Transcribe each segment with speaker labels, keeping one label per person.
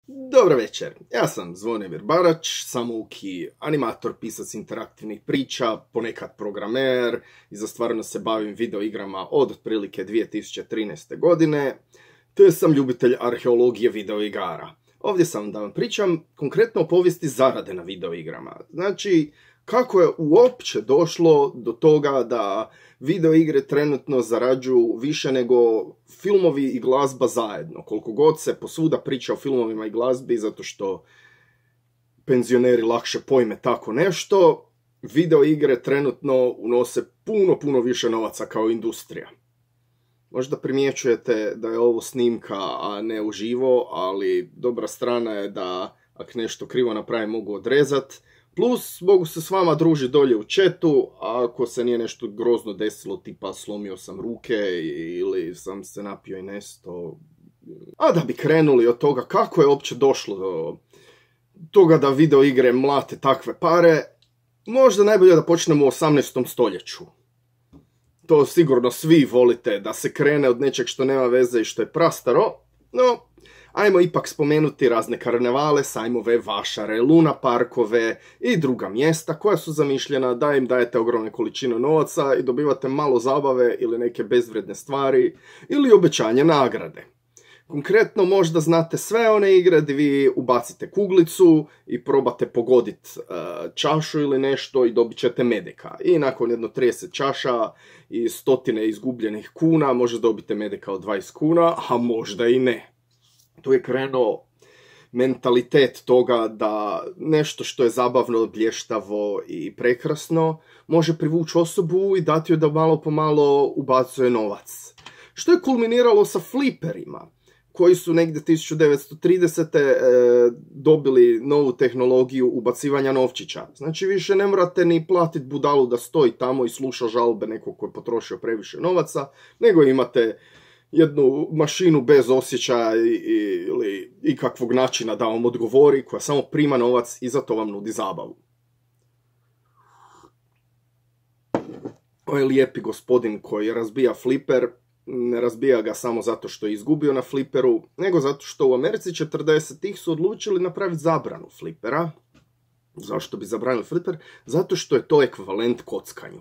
Speaker 1: Dobar večer, ja sam Zvonimir Barać, samouki animator, pisac interaktivnih priča, ponekad programer i za stvarno se bavim videoigrama od otprilike 2013. godine, te sam ljubitelj arheologije videoigara. Ovdje sam da vam pričam konkretno o povijesti zarade na videoigrama. Znači, kako je uopće došlo do toga da videoigre trenutno zarađuju više nego filmovi i glazba zajedno. Koliko god se posvuda priča o filmovima i glazbi, zato što penzioneri lakše pojme tako nešto, videoigre trenutno unose puno više novaca kao industrija. Možda primjećujete da je ovo snimka, a ne uživo, ali dobra strana je da ako nešto krivo napravim mogu odrezat. Plus, mogu se s vama družiti dolje u chatu, a ako se nije nešto grozno desilo, tipa slomio sam ruke ili sam se napio i nesto. A da bi krenuli od toga kako je uopće došlo do toga da videoigre mlate takve pare, možda najbolje da počnemo u 18. stoljeću. To sigurno svi volite da se krene od nečeg što nema veze i što je prastaro, no ajmo ipak spomenuti razne karnevale, sajmove, vašare, luna parkove i druga mjesta koja su zamišljena da im dajete ogromne količine novaca i dobivate malo zabave ili neke bezvredne stvari ili obećanje nagrade. Konkretno možda znate sve one igre gdje vi ubacite kuglicu i probate pogoditi čašu ili nešto i dobit ćete medeka. I nakon jedno 30 čaša i stotine izgubljenih kuna možda dobite medeka od 20 kuna, a možda i ne. Tu je krenuo mentalitet toga da nešto što je zabavno, blještavo i prekrasno može privući osobu i dati joj da malo po malo ubacuje novac. Što je kulminiralo sa fliperima, koji su negdje 1930. Dobili novu tehnologiju ubacivanja novčića. Znači više ne morate ni platiti budalu da stoji tamo i sluša žalbe nekog koji je potrošio previše novaca, nego imate jednu mašinu bez osjećaja ili ikakvog načina da vam odgovori, koja samo prima novac i za to vam nudi zabavu. Ovaj lijepi gospodin koji razbija fliper, ne razbija ga samo zato što je izgubio na fliperu, nego zato što u Americi 40-ih su odlučili napraviti zabranu flipera. Zašto bi zabranili fliper? Zato što je to ekvivalent kockanju.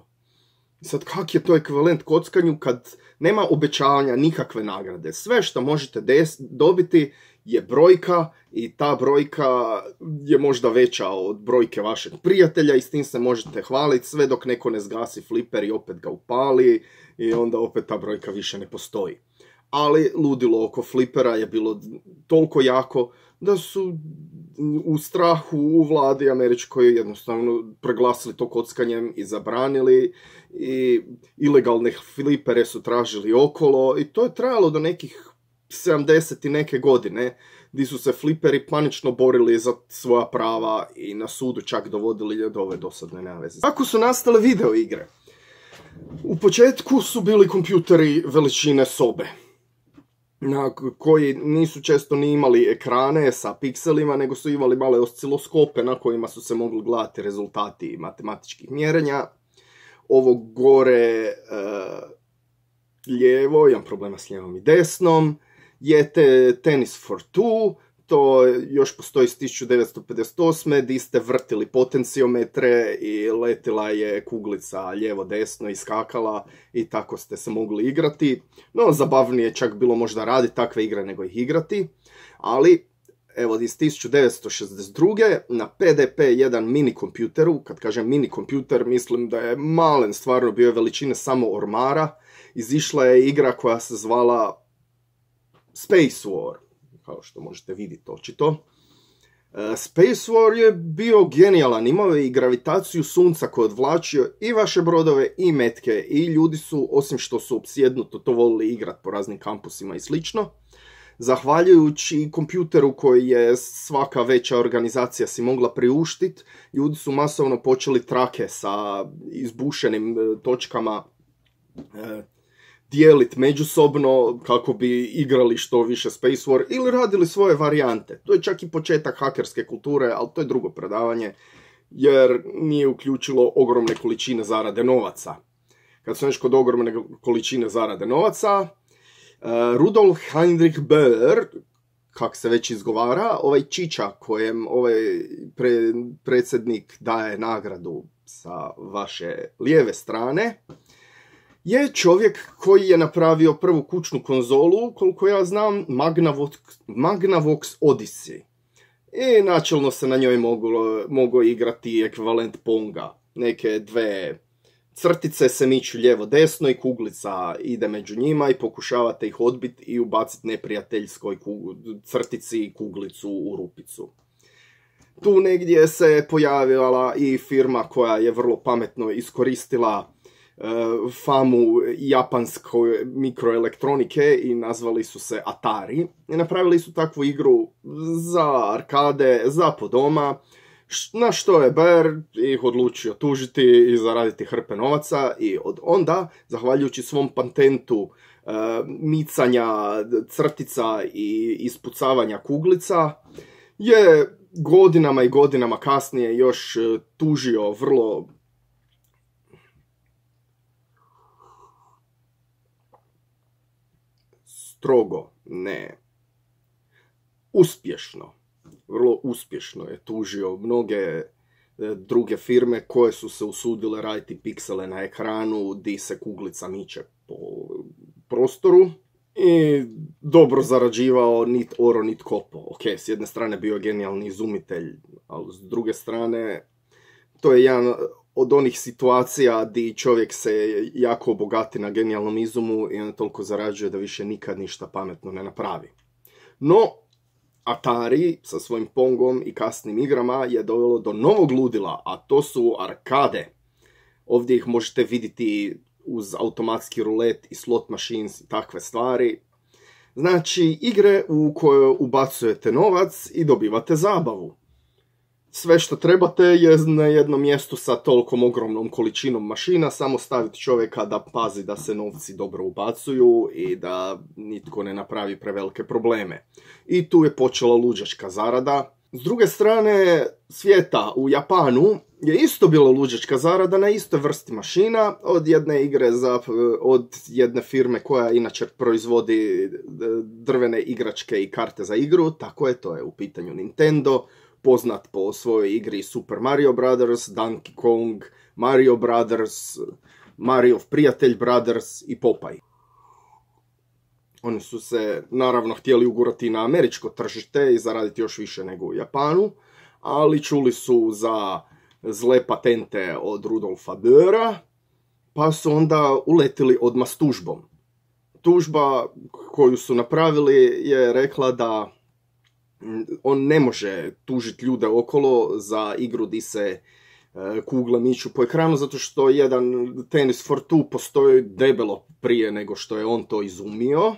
Speaker 1: Sad, kak je to ekvivalent kockanju kad nema obećavanja nikakve nagrade? Sve što možete dobiti je brojka i ta brojka je možda veća od brojke vašeg prijatelja i s tim se možete hvaliti sve dok neko ne zgasi fliper i opet ga upali i onda opet ta brojka više ne postoji. Ali ludilo oko flipera je bilo toliko jako da su u strahu u vladi američkoj jednostavno preglasili to kockanjem i zabranili i ilegalne flipere su tražili okolo i to je trajalo do nekih 70 i neke godine gdje su se fliperi panično borili za svoja prava i na sudu čak dovodili do ove dosadne naveze. Kako su nastale videoigre? U početku su bili kompjuteri veličine sobe, koji nisu često ni imali ekrane sa pikselima, nego su imali male osciloskope na kojima su se mogli gledati rezultati matematičkih mjerenja. Ovo gore lijevo, imam problema s lijevom i desnom, je Tennis for Two, to još postoji s 1958. gdje ste vrtili potenciometre i letila je kuglica lijevo-desno i skakala i tako ste se mogli igrati. No, zabavnije čak bilo možda raditi takve igre nego ih igrati, ali evo iz 1962. na PDP-1 mini kompjuteru, kad kažem mini kompjuter mislim da je malen, stvarno bio je veličine samo ormara, izišla je igra koja se zvala Space War, kao što možete vidjeti očito. Space War je bio genijalan, imao je i gravitaciju sunca koji je odvlačio i vaše brodove i metke i ljudi su, osim što su opsjednuto to volili igrati po raznim kampusima i slično, zahvaljujući kompjuteru koji je svaka veća organizacija si mogla priuštiti, ljudi su masovno počeli trake sa izbušenim točkama dijeliti međusobno kako bi igrali što više Space War ili radili svoje varijante. To je čak i početak hakerske kulture, ali to je drugo predavanje jer nije uključilo ogromne količine zarade novaca. Kad su kod ogromne količine zarade novaca, Rudolf Heinrich Böhler, kak se već izgovara, ovaj Čiča kojem ovaj predsjednik daje nagradu sa vaše lijeve strane, je čovjek koji je napravio prvu kućnu konzolu, koliko ja znam, Magnavox Odyssey. I načelno se na njoj mogo igrati ekvivalent Ponga. Neke dve crtice se miču lijevo-desno i kuglica ide među njima i pokušavate ih odbiti i ubaciti neprijateljskoj crtici i kuglicu u rupicu. Tu negdje se pojavila i firma koja je vrlo pametno iskoristila famu japanske mikroelektronike i nazvali su se Atari. I napravili su takvu igru za arkade, za po doma, na što je Bayer ih odlučio tužiti i zaraditi hrpe novaca i od onda, zahvaljujući svom patentu micanja crtica i ispucavanja kuglica, je godinama i godinama kasnije još tužio vrlo strogo, ne, uspješno, vrlo uspješno je tužio mnoge druge firme koje su se usudile raditi piksele na ekranu di se kuglica miče po prostoru i dobro zarađivao nit oro nit kopo. Ok, s jedne strane bio genijalni izumitelj, ali s druge strane to je jedan od onih situacija di čovjek se jako obogati na genijalnom izumu i on toliko zarađuje da više nikad ništa pametno ne napravi. No, Atari sa svojim Pongom i kasnim igrama je dovelo do novog ludila, a to su arkade. Ovdje ih možete vidjeti uz automatski rulet i slot machines i takve stvari. Znači, igre u koje ubacujete novac i dobivate zabavu. Sve što trebate je na jednom mjestu sa tolikom ogromnom količinom mašina samo staviti čovjeka da pazi da se novci dobro ubacuju i da nitko ne napravi prevelike probleme. I tu je počela luđačka zarada. S druge strane svijeta, u Japanu je isto bila luđačka zarada na istoj vrsti mašina od jedne igre od jedne firme koja inače proizvodi drvene igračke i karte za igru, tako je, to je u pitanju Nintendo, poznat po svojoj igri Super Mario Brothers, Donkey Kong, Mario Brothers, Mariov prijatelj Brothers i Popeye. Oni su se naravno htjeli ugurati na američko tržište i zaraditi još više nego u Japanu, ali čuli su za zle patente od Rudolfa Döra, pa su onda uletili odmah s tužbom. Tužba koju su napravili je rekla da on ne može tužiti ljude okolo za igru di se kugle miču po ekranu, zato što jedan Tennis for Two postoji debelo prije nego što je on to izumio.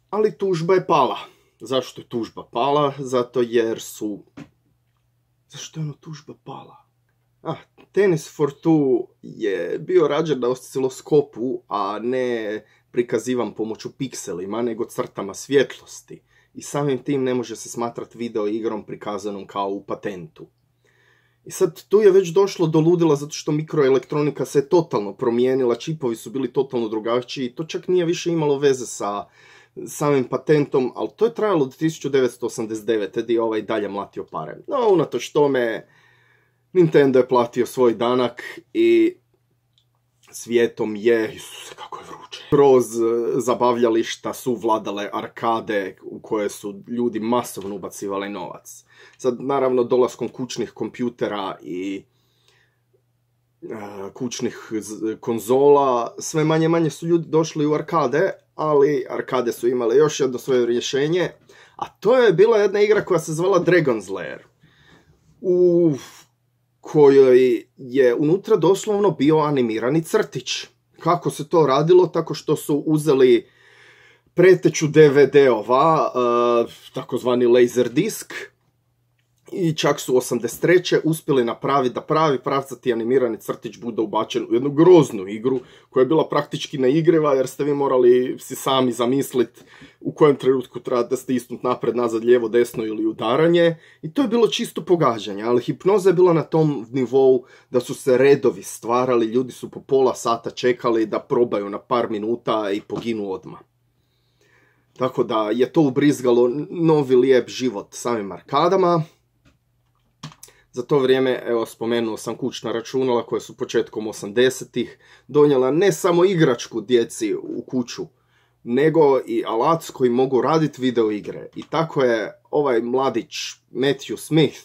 Speaker 1: Ali tužba je pala. Zašto je tužba pala? Zato jer su... Zašto je ono tužba pala? Tennis for Two je bio rađen na osciloskopu, a ne prikazivan pomoću pikselima, nego crtama svjetlosti. I samim tim ne može se smatrati video igrom prikazanom kao u patentu. I sad tu je već došlo do ludila zato što mikroelektronika se totalno promijenila, čipovi su bili totalno drugačiji, to čak nije više imalo veze sa samim patentom, ali to je trajalo do 1989. gdje je ovaj dalje mlatio pare. No, unatoč tome, Nintendo je platio svoj danak i svijetom je, Isuse kako je vruće, kroz zabavljališta su vladale arkade u koje su ljudi masovno ubacivali novac. Sad, naravno, dolaskom kućnih kompjutera i kućnih konzola, sve manje su ljudi došli u arkade, ali arkade su imale još jedno svoje rješenje, a to je bila jedna igra koja se zvala Dragon's Lair, u kojoj je unutra doslovno bio animirani crtić. Kako se to radilo? Tako što su uzeli preteću DVD-ova, takozvani Laserdisc, i čak su 83. uspjeli napraviti da pravi pravcati animirani crtić bude ubačen u jednu groznu igru koja je bila praktički neigriva jer ste vi morali si sami zamisliti u kojem trenutku trebate stisnuti napred, nazad, lijevo, desno ili udaranje, i to je bilo čisto pogađanje, ali hipnoza je bila na tom nivou da su se redovi stvarali, ljudi su po pola sata čekali da probaju na par minuta i poginu odmah. Tako da je to ubrizgalo novi lijep život samim arkadama. Za to vrijeme, evo, spomenuo sam kućna računala koja su početkom 80-ih donijela ne samo igračku djeci u kuću, nego i alat s kojim mogu raditi video igre. I tako je ovaj mladić Matthew Smith,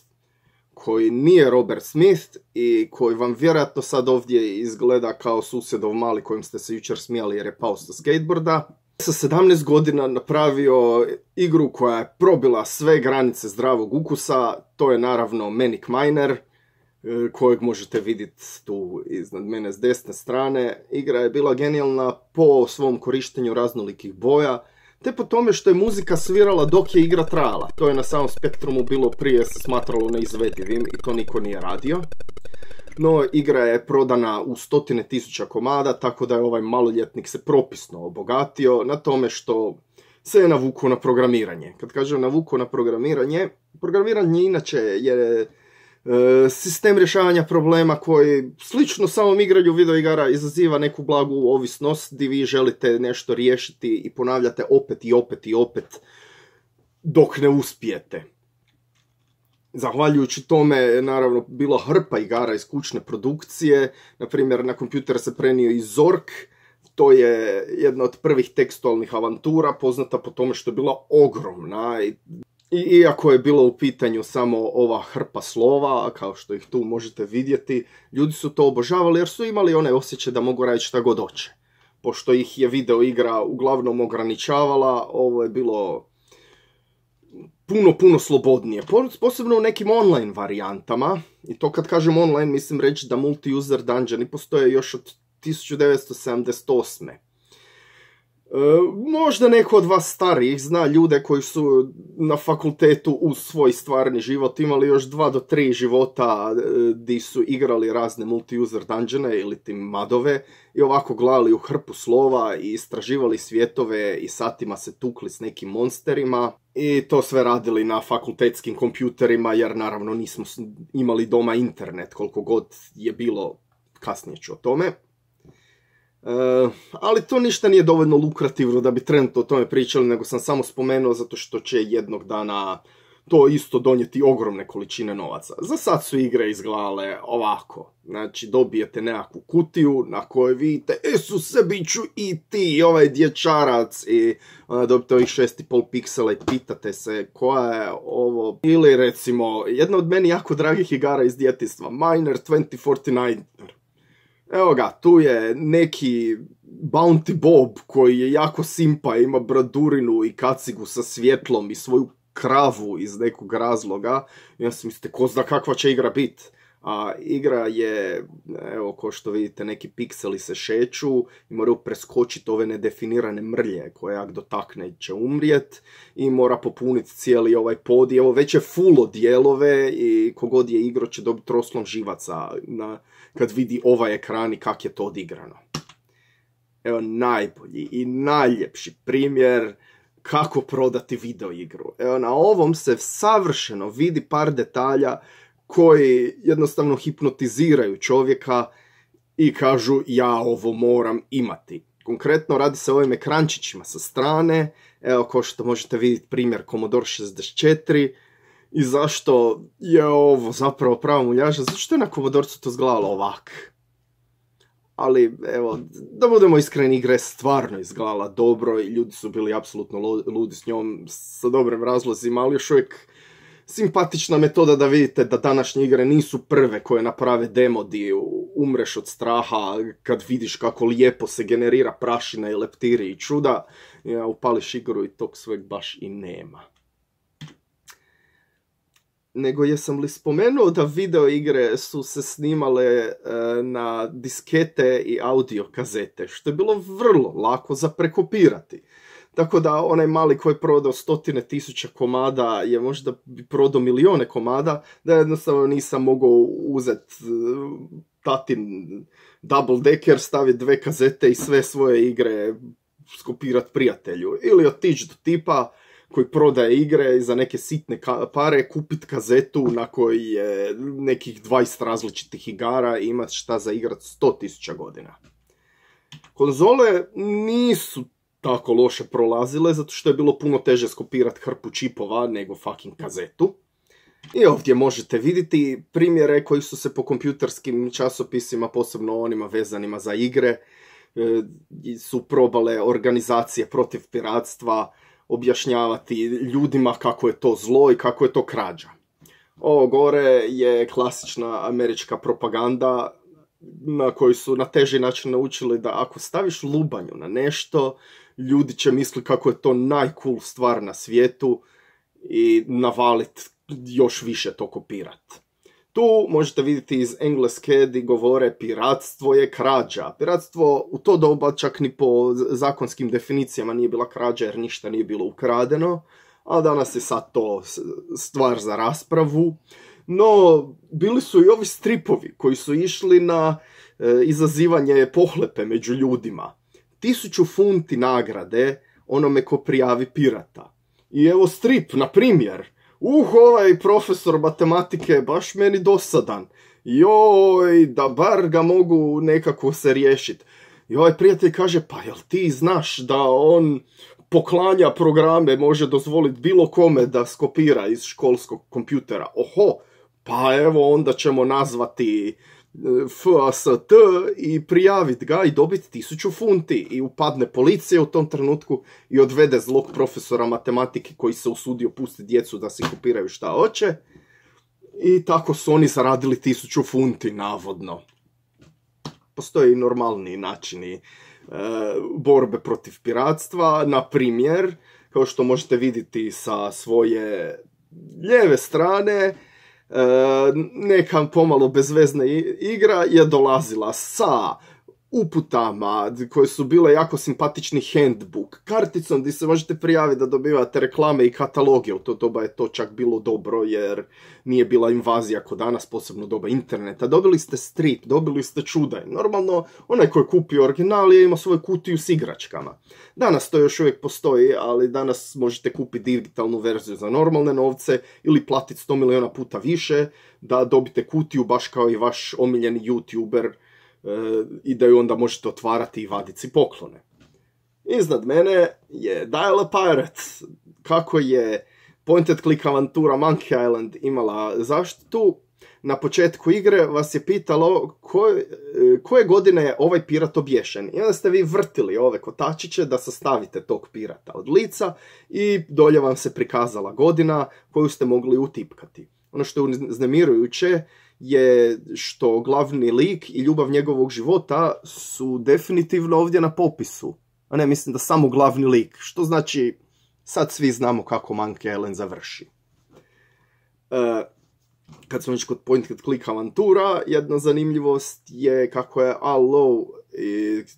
Speaker 1: koji nije Robert Smith i koji vam vjerojatno sad ovdje izgleda kao susjedov mali kojim ste se jučer smijali jer je pao sa skateboarda, sa 17 godina napravio igru koja je probila sve granice zdravog ukusa. To je naravno Manic Miner, kojeg možete vidjeti tu iznad mene s desne strane. Igra je bila genijalna po svom korištenju raznolikih boja, te po tome što je muzika svirala dok je igra trajala. To je na samom Spektrumu bilo prije smatralo neizvedivim i to niko nije radio. No, igra je prodana u 100.000 komada, tako da je ovaj maloljetnik se propisno obogatio na tome što se je navukao na programiranje. Kad kažem navukao na programiranje, programiranje inače je sistem rješavanja problema koji slično samom igranju videoigara izaziva neku blagu ovisnost gdje vi želite nešto riješiti i ponavljate opet i opet i opet dok ne uspijete. Zahvaljujući tome je naravno bilo hrpa igara iz kućne produkcije. Na primjer, na kompjuter se prenio i Zork. To je jedna od prvih tekstualnih avantura, poznata po tome što je bila ogromna. I iako je bilo u pitanju samo ova hrpa slova, kao što ih tu možete vidjeti, ljudi su to obožavali jer su imali one osjećaj da mogu raditi šta god hoće. Pošto ih je video igra uglavnom ograničavala, ovo je bilo puno slobodnije, posebno u nekim online varijantama. I to kad kažem online, mislim reći da multi-user dungeoni postoje još od 1978. Možda neko od vas starijih zna ljude koji su na fakultetu uz svoj stvarni život imali još 2 do 3 života di su igrali razne multi-user dungeone ili tim madove i ovako gledali u hrpu slova i istraživali svjetove i satima se tukli s nekim monsterima i to sve radili na fakultetskim kompjuterima jer naravno nismo imali doma internet koliko god je bilo, kasnije ću o tome. Ali to ništa nije dovoljno lukrativno da bi trenutno o tome pričali, nego sam samo spomenuo zato što će jednog dana to isto donijeti ogromne količine novaca. Za sad su igre izgledale ovako. Znači, dobijete nekakvu kutiju na kojoj vidite Isuse, bit ću i ti, ovaj dječarac, i dobijete ovih 6,5 piksela i pitate se koja je ovo. Ili recimo, jedna od meni jako dragih igara iz djetinjstva, Miner 2049. Evo ga, tu je neki Bounty Bob koji je jako simpa, ima bradurinu i kacigu sa svjetlom i svoju kravu iz nekog razloga. I ja sam mislite, ko zna kakva će igra biti. A igra je, evo ko što vidite, neki pikseli se šeću i moraju preskočiti ove nedefinirane mrlje koje jak dotakne će umrijet i mora popuniti cijeli ovaj pod. Evo već je full dijelove i kogod je igro će dobiti roslom živaca kad vidi ovaj ekran i kak je to odigrano. Evo najbolji i najljepši primjer kako prodati video igru. Evo na ovom se savršeno vidi par detalja koji jednostavno hipnotiziraju čovjeka i kažu ja ovo moram imati. Konkretno radi se o ovim ekrančićima sa strane, evo kao što možete vidjeti primjer Commodore 64 i zašto je ovo zapravo prava muljaža, zato što je na Commodore-cu to izgledalo ovak. Ali evo, da budemo iskreni, igra je stvarno izgledala dobro i ljudi su bili apsolutno ludi s njom sa dobrim razlozima, ali još uvijek simpatična metoda da vidite da današnje igre nisu prve koje naprave demo di umreš od straha kad vidiš kako lijepo se generira prašina i leptiri i čuda. Ja, upališ igru i tog sveg baš i nema. Nego jesam li spomenuo da video igre su se snimale na diskete i audio kazete, što je bilo vrlo lako za prekopirati. Tako da onaj mali koji je prodao 100.000 komada je možda prodao milijone komada, da jednostavno nisam mogao uzeti tatin double decker, staviti 2 kazete i sve svoje igre skopirati prijatelju. Ili otići do tipa koji prodaje igre i za neke sitne pare kupiti kazetu na kojoj je nekih 20 različitih igara i imati šta za igrat 100.000 godina. Konzole nisu tako loše prolazile, zato što je bilo puno teže skopirati hrpu čipova nego fucking kazetu. I ovdje možete vidjeti primjere koji su se po kompjuterskim časopisima, posebno onima vezanima za igre, su probale organizacije protiv piratstva objašnjavati ljudima kako je to zlo i kako je to krađa. Ovo gore je klasična američka propaganda na koju su na teži način naučili da ako staviš lubanju na nešto, ljudi će misliti kako je to najcool stvar na svijetu i navalit još više to kopirat. Tu možete vidjeti iz Engleske di govore piratstvo je krađa. Piratstvo u to doba čak ni po zakonskim definicijama nije bila krađa jer ništa nije bilo ukradeno, a danas je sad to stvar za raspravu. No, bili su i ovi stripovi koji su išli na izazivanje pohlepe među ljudima. 1000 funti nagrade onome ko prijavi pirata. I evo strip, na primjer. Ovaj profesor matematike je baš meni dosadan. Joj, da bar ga mogu nekako se riješiti. I ovaj prijatelj kaže, pa jel ti znaš da on poklanja programe, može dozvoliti bilo kome da skopira iz školskog kompjutera? Oho, pa evo onda ćemo nazvati FAST i prijaviti ga i dobiti 1000 funti. I upadne policija u tom trenutku i odvede zlog profesora matematike koji se usudio pustiti djecu da si kopiraju šta hoće. I tako su oni zaradili 1000 funti, navodno. Postoje i normalni načini borbe protiv piratstva. Na primjer, kao što možete vidjeti sa svoje lijeve strane, neka pomalo bezvezna igra je dolazila sa uputama koje su bile jako simpatični handbook, karticom gdje se možete prijaviti da dobivate reklame i kataloge. U to doba je to čak bilo dobro jer nije bila invazija kod danas, posebno doba interneta. Dobili ste strip, dobili ste čudaj. Normalno, onaj koji je kupio original je imao svoju kutiju s igračkama. Danas to još uvijek postoji, ali danas možete kupiti digitalnu verziju za normalne novce ili platiti 100 milijuna puta više da dobite kutiju baš kao i vaš omiljeni YouTuber, i da ju onda možete otvarati i vaditi si poklone. Iznad mene je Dial a Pirate. Kako je point and click avantura Monkey Island imala zaštitu, na početku igre vas je pitalo koje godine je ovaj pirat obješen. I onda ste vi vrtili ove kotačiće da sastavite tog pirata od lica i dolje vam se prikazala godina koju ste mogli utipkati. Ono što je uznemirujuće je što glavni lik i ljubav njegovog života su definitivno ovdje na popisu. A ne, mislim da samo glavni lik. Što znači, sad svi znamo kako Monkey Island završi. Kad smo već kod point and click avantura, jedna zanimljivost je kako je Al Lowe,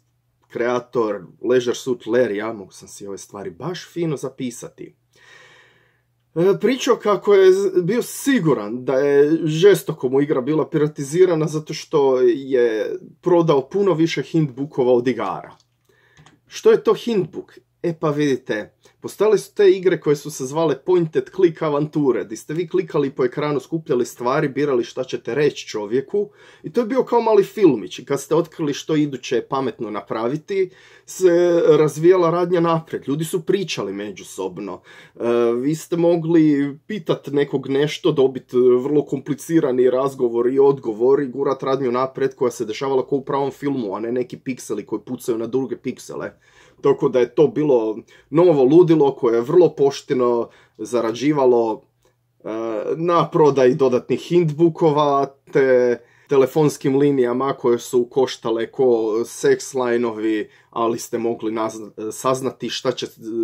Speaker 1: kreator Leisure Suit Larrya, mogu sam si ove stvari baš fino zapisati, pričao kako je bio siguran da je žestoko mu igra bila piratizirana zato što je prodao puno više hintbookova od igara. Što je to hintbook? E pa vidite, postojale su te igre koje su se zvale point and click avanture, gdje ste vi klikali po ekranu, skupljali stvari, birali šta ćete reći čovjeku i to je bio kao mali filmić i kad ste otkrili što iduće pametno napraviti, se razvijala radnja naprijed, ljudi su pričali međusobno, vi ste mogli pitati nekog nešto, dobiti vrlo komplicirani razgovor i odgovor i gurat radnju naprijed koja se dešavala kao u pravom filmu, a ne neki pikseli koji pucaju na druge piksele. Tako da je to bilo novo ludilo koje je vrlo pošteno zarađivalo na prodaji dodatnih hintbookova te telefonskim linijama koje su koštale ko sex line-ovi, ali ste mogli saznati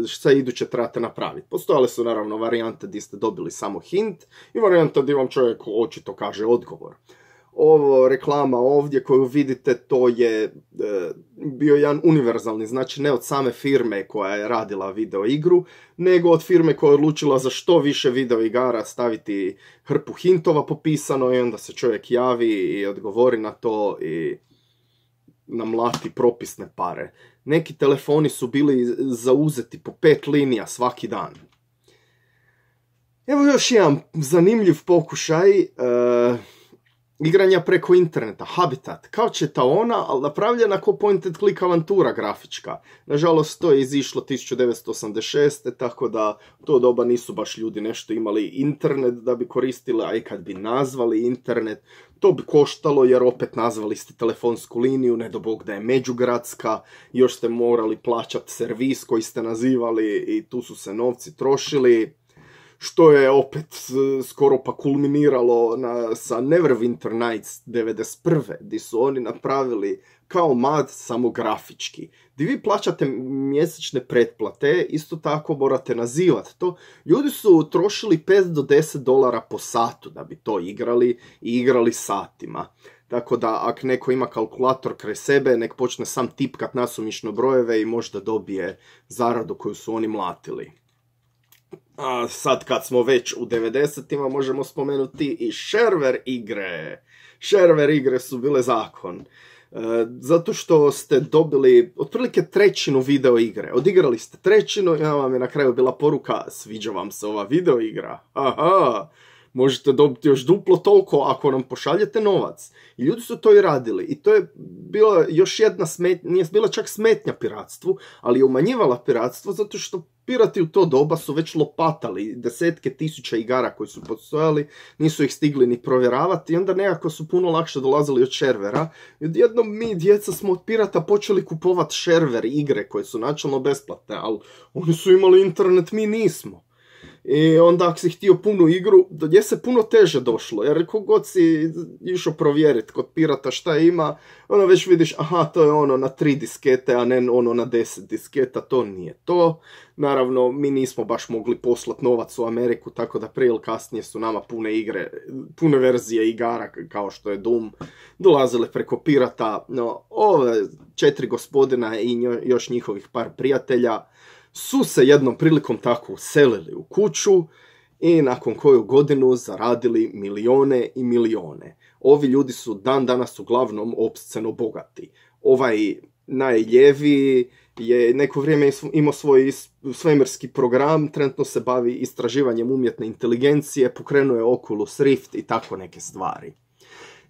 Speaker 1: šta iduće trebate napraviti. Postojale su naravno varijante gdje ste dobili samo hint i varijanta gdje vam čovjek očito kaže odgovor. Ovo reklama ovdje koju vidite, to je bio jedan univerzalni, znači ne od same firme koja je radila video igru, nego od firme koja je odlučila za što više video igara staviti hrpu hintova popisano i onda se čovjek javi i odgovori na to i namlati propisne pare. Neki telefoni su bili zauzeti po 5 linija svaki dan. Evo još jedan zanimljiv pokušaj. igranja preko interneta, Habitat, kao Četaona, ali napravljena kao point and click avantura grafička. Nažalost, to je izišlo 1986. Tako da u to doba nisu baš ljudi nešto imali internet da bi koristili, a i kad bi nazvali internet, to bi koštalo jer opet nazvali ste telefonsku liniju, ne do bog da je međugradska, još ste morali plaćati servis koji ste nazivali i tu su se novci trošili. Što je opet skoro pa kulminiralo sa Neverwinter Nights 91. gdje su oni napravili kao MAD samo grafički. Gdje vi plaćate mjesečne pretplate, isto tako morate nazivati to. Ljudi su trošili $5 do $10 po satu da bi to igrali i igrali satima. Tako da ako neko ima kalkulator kraj sebe, nek počne sam tipkat nasumično brojeve i možda dobije zaradu koju su oni mlatili. A sad kad smo već u 90-ima možemo spomenuti i shareware igre. Shareware igre su bile zakon. Zato što ste dobili otprilike trećinu video igre. Odigrali ste trećinu i vam je na kraju bila poruka: sviđa vam se ova video igra? Aha, možete dobiti još duplo toliko ako nam pošaljete novac. I ljudi su to i radili. I to je bila još jedna smetnja, nije bila čak smetnja piratstvu, ali je umanjivala piratstvo zato što pirati u to doba su već lopatali desetke tisuća igara koji su postojali, nisu ih stigli ni provjeravati i onda nekako su puno lakše dolazili od sharewera. I odjednom mi, djeca, smo od pirata počeli kupovati shareware igre koje su načelno besplatne, ali oni su imali internet, mi nismo. I onda ako si htio punu igru, do nje se puno teže došlo, jer kogod si išao provjeriti kod pirata šta ima, onda već vidiš, aha, to je ono na 3 diskete, a ne ono na 10 disketa, to nije to. Naravno, mi nismo baš mogli poslati novac u Ameriku, tako da prije ili kasnije su nama pune verzije igara, kao što je Doom, dolazile preko pirata. No, ove 4 gospodina i još njihovih par prijatelja su se jednom prilikom tako uselili u kuću i nakon koju godinu zaradili milijone i milijone. Ovi ljudi su dan danas uglavnom opsceno bogati. Ovaj najljeviji je neko vrijeme imao svoj svemirski program, trenutno se bavi istraživanjem umjetne inteligencije, pokrenuo je Oculus Rift i tako neke stvari.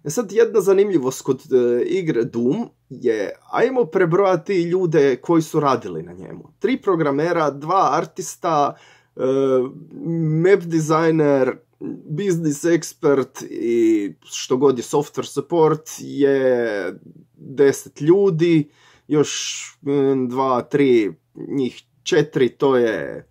Speaker 1: Sad jedna zanimljivost kod igre Doom je, ajmo prebrojati ljude koji su radili na njemu. 3 programera, 2 artista, map designer, business expert i što god je software support je 10 ljudi, još 2, 3, njih 4, to je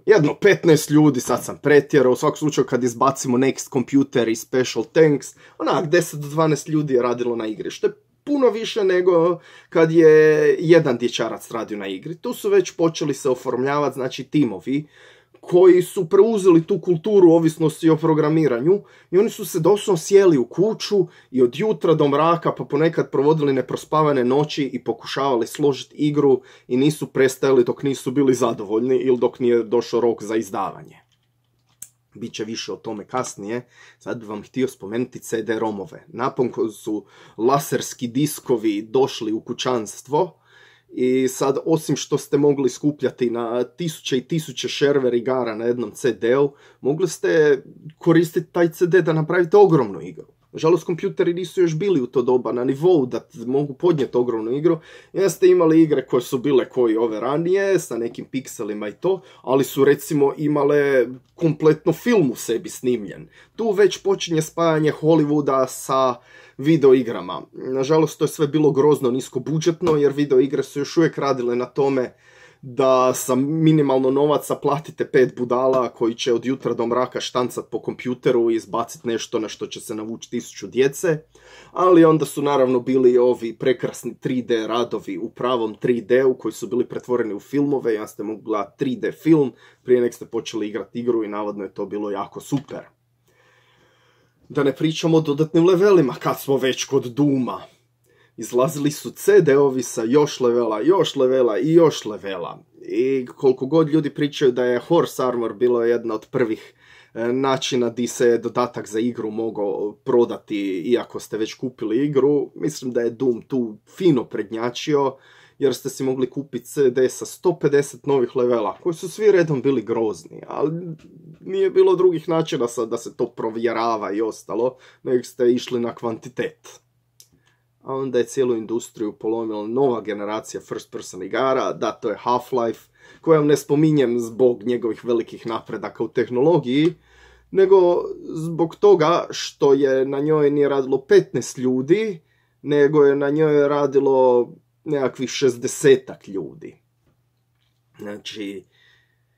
Speaker 1: jedno 15 ljudi, sad sam pretjerao, u svakom slučaju kad izbacimo Next Computer i Special Tanks, onak 10 do 12 ljudi je radilo na igri, što je puno više nego kad je jedan dječarac radio na igri. Tu su već počeli se oformljavati, znači, timovi koji su preuzeli tu kulturu ovisnosti o programiranju i oni su se doslovno sjeli u kuću i od jutra do mraka pa ponekad provodili neprospavane noći i pokušavali složiti igru i nisu prestajali dok nisu bili zadovoljni ili dok nije došao rok za izdavanje. Biće više o tome kasnije. Sad bih vam htio spomenuti CD-romove. Napokon su laserski diskovi došli u kućanstvo i sad, osim što ste mogli skupljati na tisuće i tisuće shareware igara na jednom CD-u, mogli ste koristiti taj CD da napravite ogromnu igru. Nažalost, kompjuteri nisu još bili u to doba na nivou da mogu podnijeti ogromnu igru. I ste imali igre koje su bile koji ove ranije, sa nekim pikselima i to, ali su recimo imale kompletno film u sebi snimljen. Tu već počinje spajanje Hollywooda sa video igrama. Nažalost, to je sve bilo grozno niskobudžetno, jer video igre su još uvijek radile na tome da sa minimalno novaca platite 5 budala koji će od jutra do mraka štancat po kompjuteru i izbaciti nešto na što će se navući 1000 djece. Ali onda su naravno bili ovi prekrasni 3D radovi u pravom 3D-u koji su bili pretvoreni u filmove. Ja ste mogli gledati 3D film prije nek ste počeli igrati igru i navodno je to bilo jako super. Da ne pričamo o dodatnim levelima kad smo već kod Dooma. Izlazili su CD-ovi sa još levela, još levela i još levela. I koliko god ljudi pričaju da je Horse Armor bilo jedna od prvih načina di se dodatak za igru mogao prodati iako ste već kupili igru, mislim da je Doom tu fino prednjačio jer ste si mogli kupiti CD sa 150 novih levela, koji su svi redom bili grozni, ali nije bilo drugih načina da se to provjerava i ostalo, nego ste išli na kvantitet. A onda je cijelu industriju polomila nova generacija first person igara, da to je Half-Life, koju ne spominjem zbog njegovih velikih napredaka u tehnologiji, nego zbog toga što je na njoj nije radilo 15 ljudi, nego je na njoj radilo nekakvih 60 ljudi. Znači,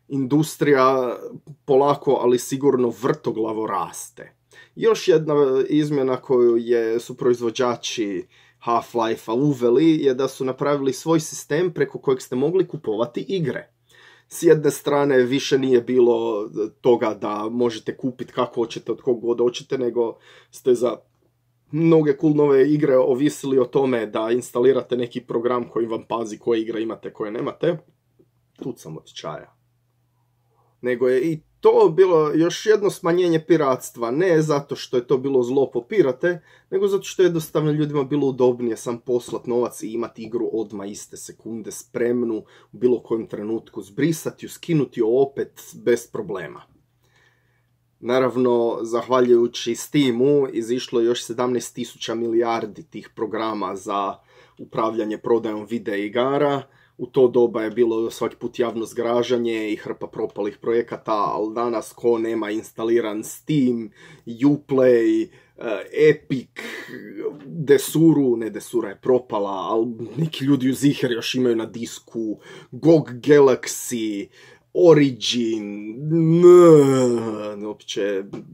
Speaker 1: industrija polako, ali sigurno vrtoglavo raste. Još jedna izmjena koju su proizvođači Half-Life-a uveli je da su napravili svoj sistem preko kojeg ste mogli kupovati igre. S jedne strane više nije bilo toga da možete kupiti kako hoćete od kog god hoćete, nego ste za mnoge cool nove igre ovisili o tome da instalirate neki program koji vam pazi koje igre imate, koje nemate. Tuc sam od čaja. Nego je i to bilo još jedno smanjenje piratstva, ne zato što je to bilo zlo po pirate, nego zato što je jednostavno ljudima bilo udobnije sam poslat novac i imati igru odmah iste sekunde spremnu, u bilo kojem trenutku zbrisati ju, skinuti ju opet bez problema. Naravno, zahvaljujući Steamu, izišlo je još 17.000 milijardi tih programa za upravljanje prodajom video igara. U to doba je bilo svaki put javno zgražanje i hrpa propalih projekata, ali danas ko nema instaliran Steam, Uplay, Epic, Desuru, ne Desura je propala, ali neki ljudi u Ziher još imaju na disku, GOG Galaxy, Origin,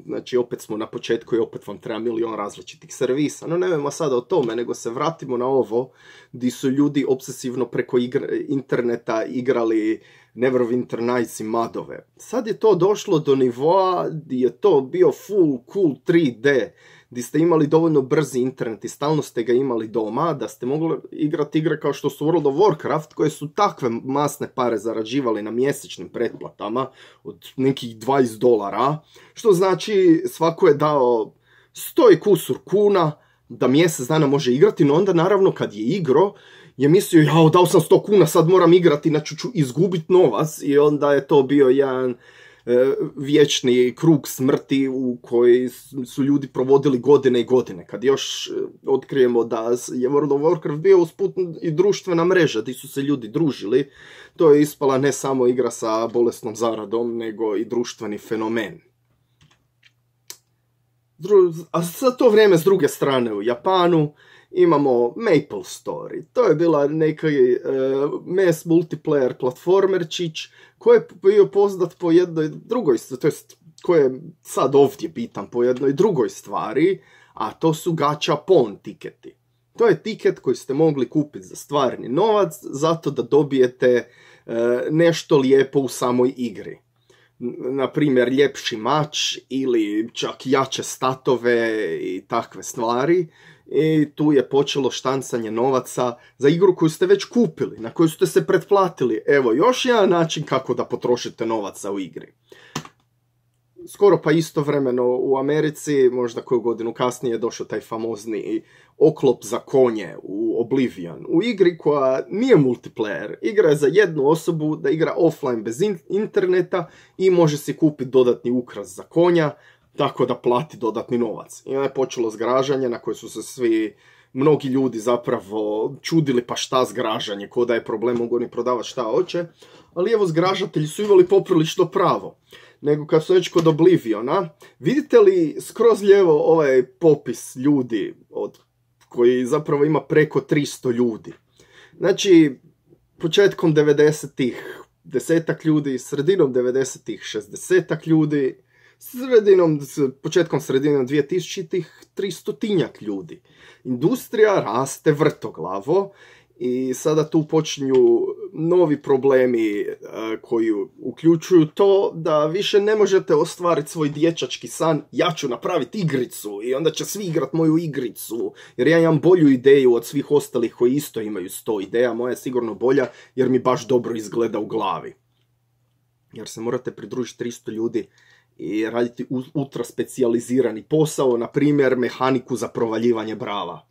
Speaker 1: znači opet smo na početku i opet vam treba milion različitih servisa. No nemojmo sada o tome, nego se vratimo na ovo gdje su ljudi obsesivno preko interneta igrali Neverwinter Nights i madove. Sad je to došlo do nivoa gdje je to bio full cool 3D, gdje ste imali dovoljno brzi internet i stalno ste ga imali doma, da ste mogli igrati igre kao što su World of Warcraft, koje su takve masne pare zarađivali na mjesečnim pretplatama od nekih $20, što znači svako je dao 100 i kusur kuna da mjesec dana može igrati, no onda naravno kad je igro je mislio, jao, dao sam 100 kuna, sad moram igrati, znači ću izgubiti novac, i onda je to bio jedan vječni krug smrti u koji su ljudi provodili godine i godine. Kad još otkrijemo da je World of Warcraft bio usput i društvena mreža gdje su se ljudi družili, to je ispala ne samo igra sa bolesnom zaradom, nego i društveni fenomen. A za to vrijeme s druge strane u Japanu imamo Maple Story. To je bila neki mass multiplayer platformerčić koji je bio poznat po jednoj drugoj, to jest koji je sad ovdje bitan po jednoj drugoj stvari, a to su gachapon tiketi. To je tiket koji ste mogli kupiti za stvarni novac, zato da dobijete nešto lijepo u samoj igri. Na primjer, ljepši mač ili čak jače statove i takve stvari. I tu je počelo štancanje novaca za igru koju ste već kupili, na koju ste se pretplatili. Evo, još jedan način kako da potrošite novaca u igri. Skoro pa istovremeno u Americi, možda koju godinu kasnije, je došao taj famozni oklop za konje u Oblivion. U igri koja nije multiplayer, igra je za jednu osobu da igra offline bez interneta i može si kupiti dodatni ukras za konja, tako da plati dodatni novac. I onda je počelo zgražanje na koje su se mnogi ljudi zapravo čudili, pa šta zgražanje, ko da je problem, mogu oni prodavati šta hoće. Ali evo, zgražatelji su imali poprilično pravo. Nego kad su već kod Obliviona, vidite li skroz lijevo ovaj popis ljudi koji zapravo ima preko 300 ljudi. Znači, početkom 90-ih 10-ak ljudi, sredinom 90-ih 60-ak ljudi, početkom sredinom 2000-ih 300-tinjak ljudi. Industrija raste vrtoglavo i sada tu počinju novi problemi koji uključuju to da više ne možete ostvariti svoj dječački san, ja ću napraviti igricu i onda će svi igrat moju igricu, jer ja imam bolju ideju od svih ostalih koji isto imaju 100 ideja, moja je sigurno bolja jer mi baš dobro izgleda u glavi. Jer se morate pridružiti 300 ljudi i raditi ultra specijalizirani posao, na primjer mehaniku za provaljivanje brava.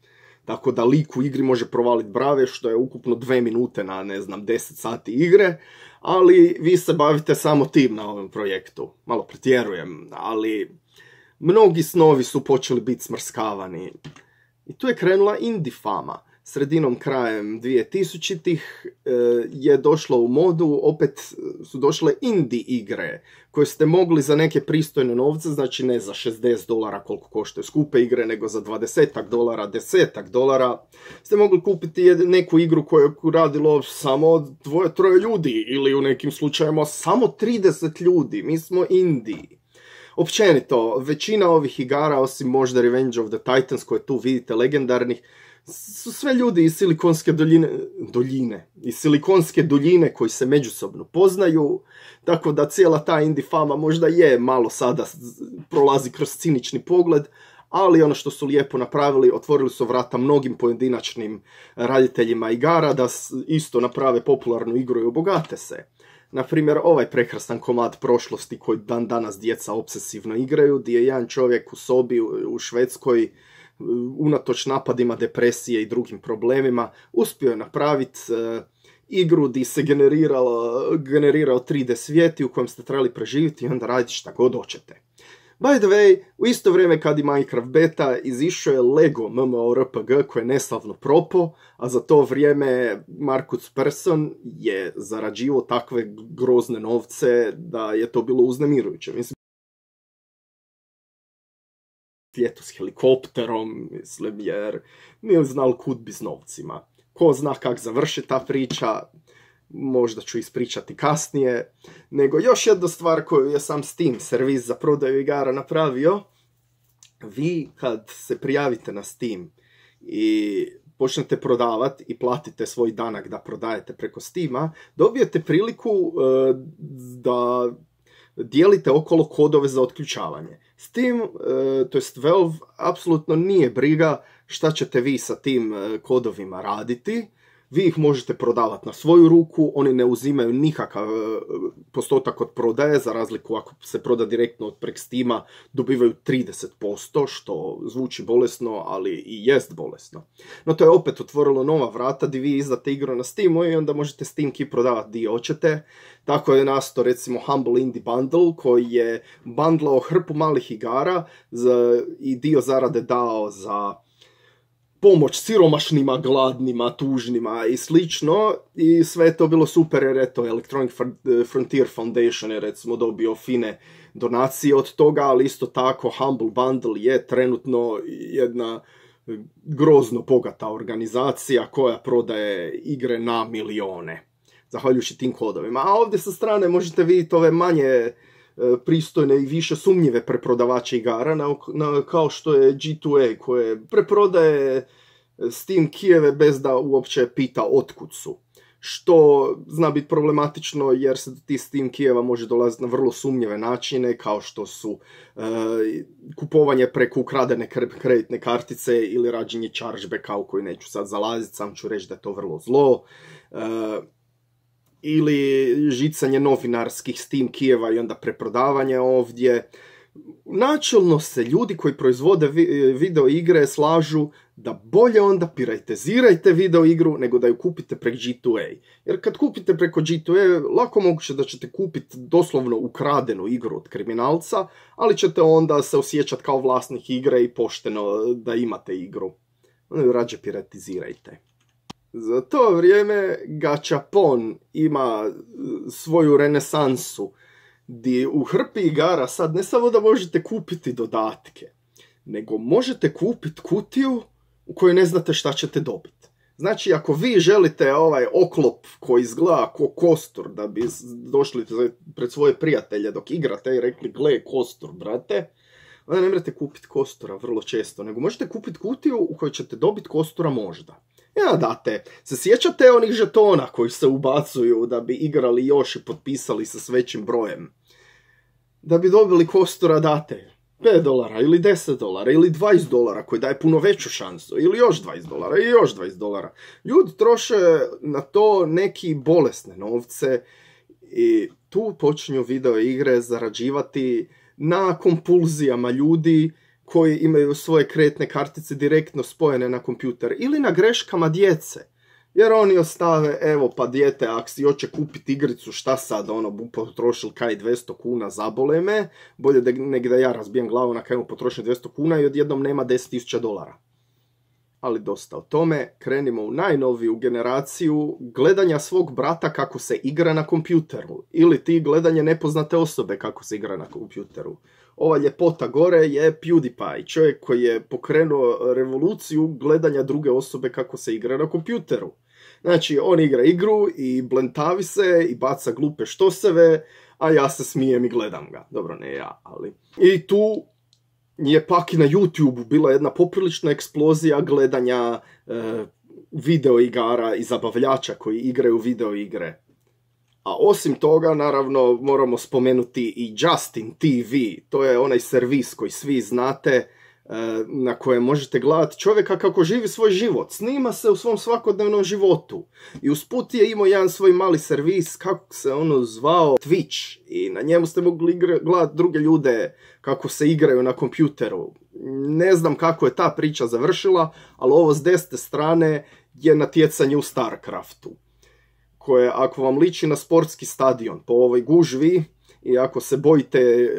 Speaker 1: tako da lik u igri može provaliti brave, što je ukupno 2 minute na, 10 sati igre, ali vi se bavite samo tim na ovom projektu. Malo pretjerujem, ali mnogi snovi su počeli biti smrskavani. I tu je krenula indie fama. Sredinom krajem 2000-ih je došlo u modu, opet su došle indie igre koje ste mogli za neke pristojne novce, znači ne za $60 koliko koštaju skupe igre, nego za $20, $10, ste mogli kupiti neku igru koju je radilo samo 2-3 ljudi ili u nekim slučajima samo 30 ljudi. Mi smo indie. Općenito, većina ovih igara, osim možda Revenge of the Titans koje tu vidite legendarnih, su sve ljudi iz Silikonske doljine koji se međusobno poznaju, tako da cijela ta indie fama možda je malo sada prolazi kroz cinični pogled, ali ono što su lijepo napravili, otvorili su vrata mnogim pojedinačnim raditeljima igara da isto naprave popularnu igru i obogate se. Naprimjer, ovaj prekrasan komad prošlosti koji dan danas djeca obsesivno igraju, gdje je jedan čovjek u sobi u Švedskoj unatoč napadima depresije i drugim problemima uspio je napraviti igru gdje se generirao 3D svijet u kojem ste trebali preživjeti i onda raditi šta god hoćete. By the way, u isto vrijeme kad i Minecraft beta izišao je Lego MMORPG koji je neslavno propao, a za to vrijeme Markus Persson je zarađivao takve grozne novce da je to bilo uznemirujuće. Mislim, ljeto s helikopterom, jer nije znal kud bi s novcima. Ko zna kak završi ta priča, možda ću ispričati kasnije. Nego još jedna stvar koju je sam Steam, servis za prodaju igara, napravio. Vi kad se prijavite na Steam i počnete prodavati i platite svoj danak da prodajete preko Steama, dobijete priliku da dijelite okolo kodove za otključavanje. Steam, to jest Valve, apsolutno nije briga šta ćete vi sa tim kodovima raditi. Vi ih možete prodavati na svoju ruku, oni ne uzimaju nikakav postotak od prodaje, za razliku ako se proda direktno od prek Steama, dobivaju 30%, što zvuči bolesno, ali i jest bolesno. No to je opet otvorilo nova vrata gdje vi izdate igru na Steamu i onda možete Steam Key prodavati gdje hoćete. Tako je nastao recimo Humble Indie Bundle koji je bundlao hrpu malih igara i dio zarade dao za pomoć siromašnima, gladnima, tužnima i slično, i sve je to bilo super jer eto Electronic Frontier Foundation je recimo dobio fine donacije od toga, ali isto tako Humble Bundle je trenutno jedna grozno bogata organizacija koja prodaje igre na milijone, zahvaljujući tim kodovima. A ovdje sa strane možete vidjeti ove manje pristojne i više sumnjive preprodavače igara, kao što je G2A koje preprodaje Steam Keyeve bez da uopće pita otkud su. Što zna biti problematično jer se do tih Steam Keyeva može dolaziti na vrlo sumnjive načine, kao što su kupovanje preko ukradene kreditne kartice ili rađenje chargebacka u koji neću sad zalaziti, sam ću reći da je to vrlo zlo. Ili žicanje novinarskih Steam Keyeva i onda preprodavanje ovdje. Načelno se ljudi koji proizvode video igre slažu da bolje onda piratizirajte video igru nego da ju kupite preko G2A. Jer kad kupite preko G2A, lako moguće da ćete kupiti doslovno ukradenu igru od kriminalca, ali ćete onda se osjećati kao vlasnik igre i pošteno da imate igru. Onda ju rađe piratizirajte. Za to vrijeme Gachapon ima svoju renesansu, gdje u hrpi igara sad ne samo da možete kupiti dodatke, nego možete kupiti kutiju u kojoj ne znate šta ćete dobiti. Znači, ako vi želite ovaj oklop koji izgleda ko kostur, da bi došli pred svoje prijatelje dok igrate i rekli, gle, kostur, brate, onda ne morate kupiti kostura vrlo često, nego možete kupiti kutiju u kojoj ćete dobiti kostura možda. Ja, date, se sjećate onih žetona koji se ubacuju da bi igrali još i potpisali se s većim brojem? Da bi dobili kostura date $5 ili $10 ili $20 koji daje puno veću šansu, ili još $20 i još $20. Ljudi troše na to neki bolesne novce i tu počinju video igre zarađivati na kompulzijama ljudi koji imaju svoje kreditne kartice direktno spojene na kompjuter ili na greškama djece. Jer oni ostave, evo pa dijete, ako si hoće kupiti igricu, šta sad, potrošili kaj 200 kuna, zabole me, bolje nek da ja razbijem glavu na kaj mu potrošim 200 kuna i odjednom nema $10,000. Ali dosta o tome, krenimo u najnoviju generaciju gledanja svog brata kako se igra na kompjuteru. Ili ti gledanje nepoznate osobe kako se igra na kompjuteru. Ova ljepota gore je PewDiePie, čovjek koji je pokrenuo revoluciju gledanja druge osobe kako se igra na kompjuteru. Znači, on igra igru i blentavi se i baca glupe štoseve, a ja se smijem i gledam ga. Dobro, ne ja, ali... I tu je pak i na YouTube bila jedna poprilična eksplozija gledanja video igara i zabavljača koji igraju video igre. A osim toga, naravno, moramo spomenuti i Justin TV. To je onaj servis koji svi znate, na kojem možete gledati čovjeka kako živi svoj život. Snima se u svom svakodnevnom životu. I usput je imao jedan svoj mali servis, kako se ono zvao, Twitch. I na njemu ste mogli gledati druge ljude kako se igraju na kompjuteru. Ne znam kako je ta priča završila, ali ovo s desne strane je natjecanje u StarCraftu, koje ako vam liči na sportski stadion po ovoj gužvi i ako se bojite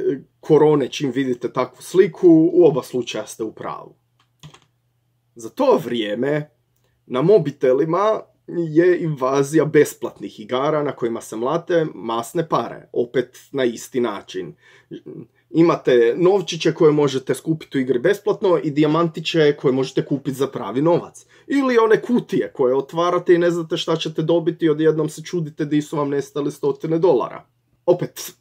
Speaker 1: korone čim vidite takvu sliku, u oba slučaja ste u pravu. Za to vrijeme na mobitelima je invazija besplatnih igara na kojima se mlate masne pare, opet na isti način. Imate novčiće koje možete skupiti u igri besplatno i dijamantiće koje možete kupiti za pravi novac. Ili one kutije koje otvarate i ne znate šta ćete dobiti i odjednom se čudite di su vam nestali $100. Opet,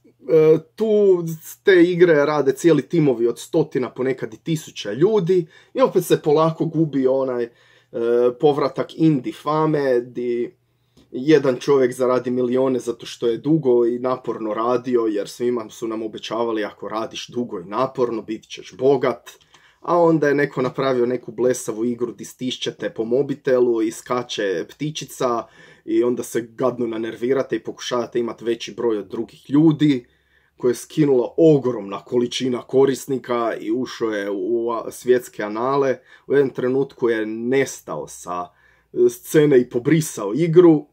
Speaker 1: tu te igre rade cijeli timovi od 100, ponekad i 1000 ljudi i opet se polako gubi onaj povratak indie fame di jedan čovjek zaradi milijone zato što je dugo i naporno radio, jer svima su nam obećavali ako radiš dugo i naporno bit ćeš bogat, a onda je neko napravio neku blesavu igru di stišćete po mobitelu i skače ptičica i onda se gadno nanervirate i pokušavate imati veći broj od drugih ljudi, koje je skinulo ogromna količina korisnika i ušao je u svjetske anale. U jednom trenutku je nestao sa scene i pobrisao igru.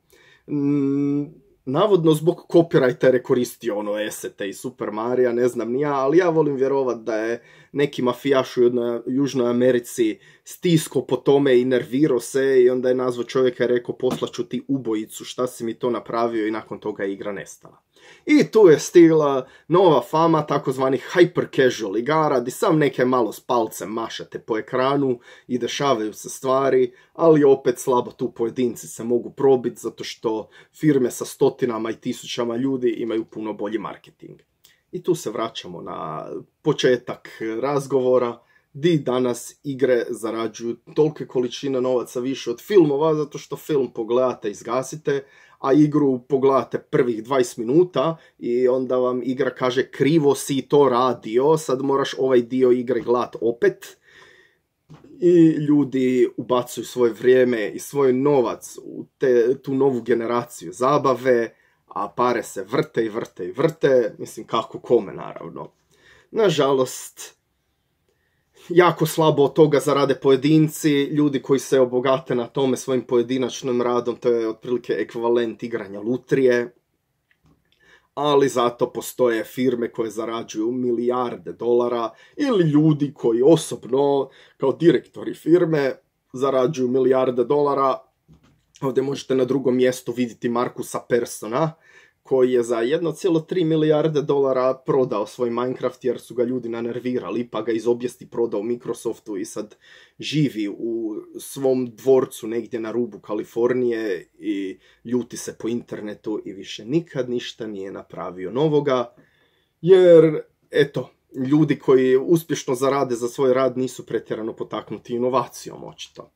Speaker 1: Navodno zbog copyrighta je koristio esete iz Super Marija, ne znam ni ja, ali ja volim vjerovat da je neki mafijaš u Južnoj Americi stisko po tome i nervirao se i onda je nazvao čovjeka i rekao poslaću ti ubojicu, šta si mi to napravio, i nakon toga je igra nestala. I tu je stigla nova fama takozvanih hyper casual igara, di sam neke malo s palcem mašate po ekranu i dešavaju se stvari, ali opet slabo tu pojedinci se mogu probiti zato što firme sa 100 i 1000 ljudi imaju puno bolji marketing. I tu se vraćamo na početak razgovora, di danas igre zarađuju tolike količine novaca više od filmova, zato što film pogledate i zgasite, a igru pogledate prvih 20 minuta i onda vam igra kaže krivo si to radio, sad moraš ovaj dio igre gledat opet. I ljudi ubacuju svoje vrijeme i svoj novac u tu novu generaciju zabave, a pare se vrte i vrte i vrte, mislim kako kome naravno. Nažalost, jako slabo od toga zarade pojedinci, ljudi koji se obogate na tome svojim pojedinačnim radom, to je otprilike ekvivalent igranja lutrije, ali zato postoje firme koje zarađuju milijarde dolara ili ljudi koji osobno, kao direktori firme, zarađuju milijarde dolara. Ovdje možete na drugom mjestu vidjeti Markusa Persona, koji je za 1,3 milijarde dolara prodao svoj Minecraft jer su ga ljudi nanervirali, pa ga iz obijesti prodao Microsoftu i sad živi u svom dvorcu negdje na rubu Kalifornije i ljuti se po internetu i više nikad ništa nije napravio novoga, jer eto, ljudi koji uspješno zarade za svoj rad nisu pretjerano potaknuti inovacijom očito.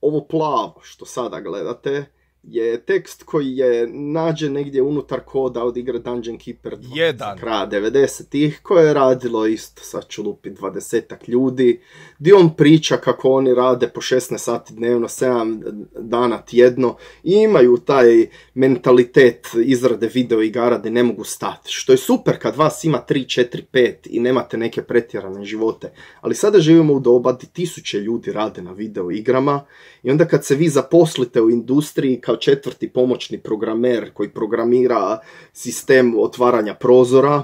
Speaker 1: Ovo plavo što sada gledate je tekst koji je nađen negdje unutar koda od igre Dungeon Keeper 2 kraja 90-ih, koje je radilo isto, sad ću lupit, 20-ak ljudi, gdje on priča kako oni rade po 16 sati dnevno, 7 dana tjedno i imaju taj mentalitet izrade video igara da ne mogu stati, što je super kad vas ima 3, 4, 5 i nemate neke pretjerane živote, ali sada živimo u doba gdje tisuće ljudi rade na video igrama i onda kad se vi zaposlite u industriji kao 4. pomoćni programer koji programira sistem otvaranja prozora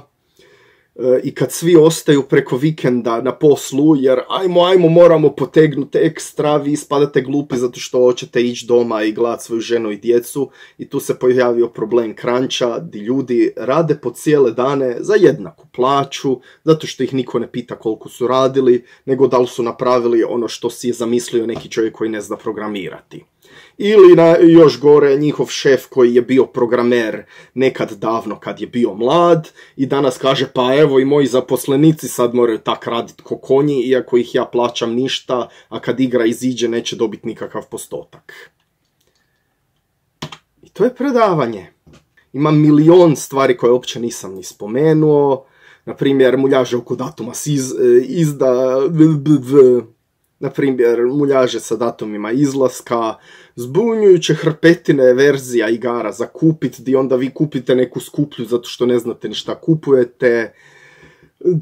Speaker 1: i kad svi ostaju preko vikenda na poslu jer ajmo moramo potegnuti ekstra, vi ispadate glupi zato što hoćete ići doma i gledati svoju ženu i djecu i tu se pojavio problem cruncha gdje ljudi rade po cijele dane za jednaku plaću zato što ih niko ne pita koliko su radili nego da li su napravili ono što si je zamislio neki čovjek koji ne zna programirati. Ili još gore njihov šef koji je bio programer nekad davno kad je bio mlad i danas kaže pa evo i moji zaposlenici sad moraju tak raditi ko konji iako ih ja plaćam ništa, a kad igra iziđe neće dobiti nikakav postotak. I to je predavanje. Ima milion stvari koje uopće nisam ni spomenuo. Na primjer, muljaže oko datuma na primjer, muljaže sa datumima izlaska, zbunjujuće hrpetine verzija igara za kupit, gdje onda vi kupite neku skuplju zato što ne znate ni šta kupujete.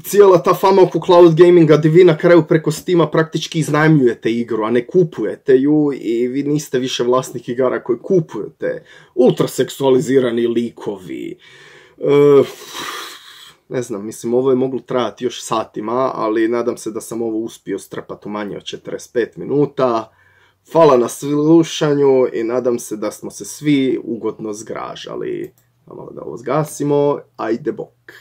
Speaker 1: Cijela ta fama oko cloud gaminga gdje vi na kraju preko Steama praktički iznajmljujete igru, a ne kupujete ju i vi niste više vlasnik igara koji kupujete. Ultraseksualizirani likovi. Ne znam, mislim, ovo je moglo trajati još satima, ali nadam se da sam ovo uspio strpati u manje od 45 minuta. Hvala na slušanju i nadam se da smo se svi ugodno zgražali. Malo da ovo zgasimo, ajde bok.